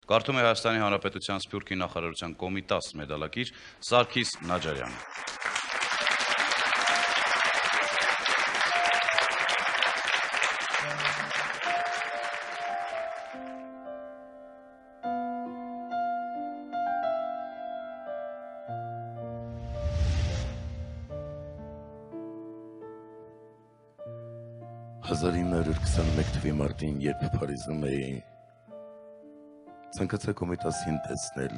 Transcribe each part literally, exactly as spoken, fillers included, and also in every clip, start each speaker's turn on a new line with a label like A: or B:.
A: Կարդում է Հայաստանի Հանրապետության Սփյուռքի նախարարության Կոմիտաս մեդալակիր Սարգիս Նաջարյանը։
B: հազար ինը հարյուր քսաներեք թվականի մարտին, երբ Փարիզում էի, ցանկացա Կոմիտասին տեսնել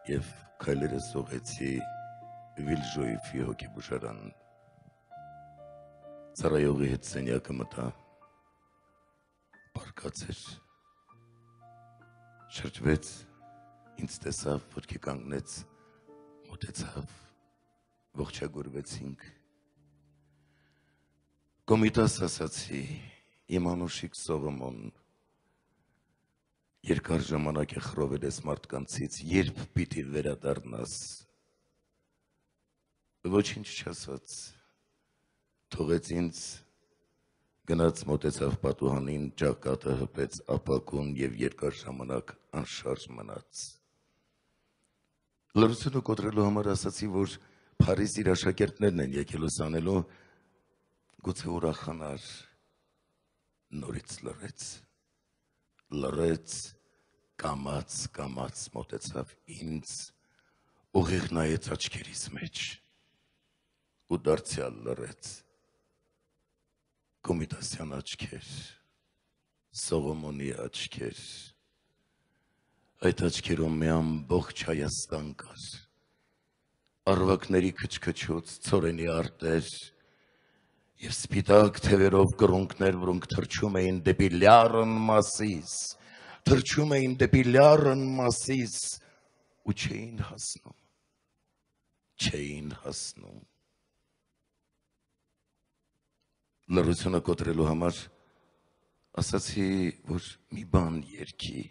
B: եւ քայլերս ուղղեցի Վիլժոյեֆի հոգեբուժարան։ Ծառայողի հետ սենյակը մտա, պառկած էր, շրջվեց, ինձ տեսավ, ոտքի կանգնեց, մոտեցավ, ողջագուրվեցինք։ Կոմիտաս ասացի, իմ անուշիկ Սողոմոն, երկար ժամանակ է խռովել ես մարդկանցից, երբ պիտի վերադառնաս։ Ոչինչ չասաց, թողեց ինձ, գնաց մոտեցավ պատուհանին, ճակատը հպեց ապակուն եւ երկար ժամանակ անշարժ մնաց։ Լռությունը կոտրելու համար ասացի, որ Փարիզ իր աշակերտներն են եկել ուսանելու, գուցե ուրախանար, նորից լռեց, լռեց, կամաց, կամաց մոտեցավ ինձ, ուղիղ նայեց աչքերիս մեջ, ու դարձյալ լռեց, Կոմիտասյան աչքեր, Սողոմոնի աչքեր, այդ աչքերում մի ամբողջ Հայաստան կար, առվակների քչքչոց, ցորենի արտեր, և սպիտակ թևերով կռունկներ, որոնք թռչում էին դեպի լյարն Մասիս, թռչում էին դեպի լյարն Մասիս, ու չէին հասնում, չէին հասնում։ Լռությունը կոտրելու համար ասացի, որ մի բան երգի,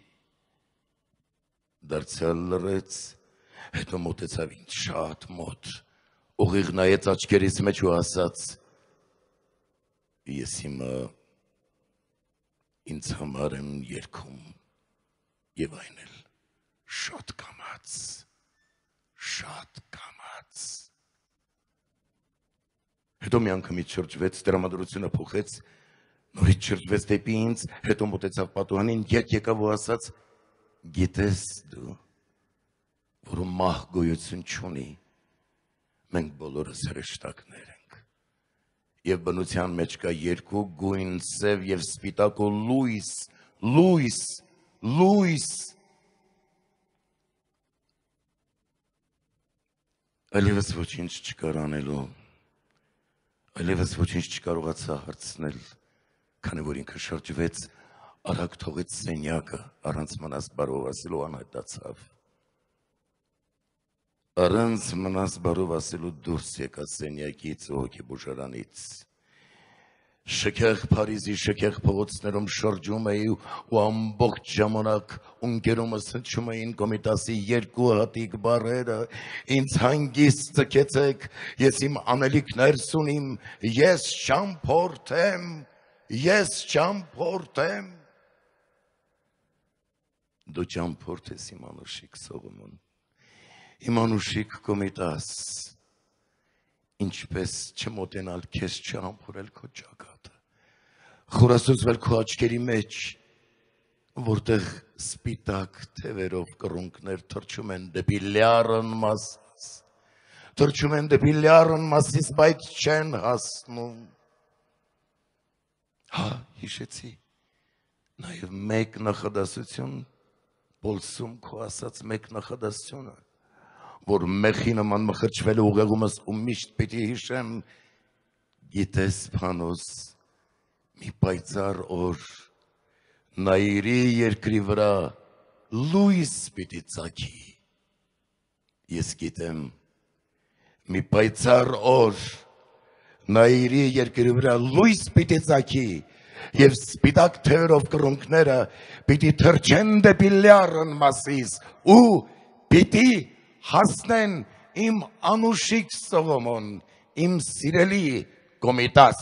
B: դարձյալ լռեց, հետո մոտեցավ ինձ շատ մոտ, ուղիղ նայեց աչքերիս մեջ ու ասաց, ես հիմա ինձ համար եմ երգում եւ այն էլ շատ կամաց, շատ կամաց։ Հետո մի անգամից շրջվեց, տրամադրությունը փոխեց, նորից շրջվեց դեպի ինձ, հետո մոտեցավ պատուհանին, ետ եկավ ու ասաց, գիտես դու, որ մահ գոյություն չունի, մենք բոլորս հրեշտակներ ենք։ Եվ բնության մեջ կա երկու գույն, սև եւ սպիտակ ու լույս, լույս, լույս։ Այլևս ոչինչ չկար անելու, այլևս ոչինչ չկարողացա հարցնել, քանի որ ինքը շրջվեց, արագ թողեց սենյակը, առանց մնաս բարով ասելու անհետացավ։ Առանց մնաս բարով ասելու դուրս եկա սենյակից ու հոգեբուժարանից։ Շքեղ Փարիզի շքեղ փողոցներում շրջում էի ու ամբողջ ժամանակ ունկերումս հնչում էին Կոմիտասի երկու հատիկ բառերը, ինձ հանգիստ ձգեցեք, ես իմ անելիքներս ունիմ, ես չամփորձեմ, ես չամփորձեմ։ Դու չամփորձես իմ անուշիկ Սողոմոն, իմ անուշիկ Կոմիտաս, ինչպես չմոտենալ քեզ չամփորել քո ճակատը, խորասուզվել քո աչքերի մեջ, որտեղ սպիտակ թևերով կռունկներ թռչում են դեպի լյարն Մասիս, թռչում են դեպի լյարն Մասիս, բայց չեն հասնում։ Հա, հիշեցի, նաև մեկ նախադասություն, Պոլսում քո ասած մեկ նախադասությունը, որ մեխի նման մխրճվել ուղեղումս ու միշտ պիտի հիշեմ, գիտես Փանոս, մի պայծառ օր, նայիրի երկրի վրա լույս պիտի ծագի, ես գիտեմ, մի պայծառ օր, նայիրի երկրի վրա լույս պիտի ծագի, և սպիտակ թևերով կռունկները պիտի թռչեն դեպի լյարն Մասիս ու պիտի հասնեն իմ անուշիկ Սողոմոն, իմ սիրելի Կոմիտաս։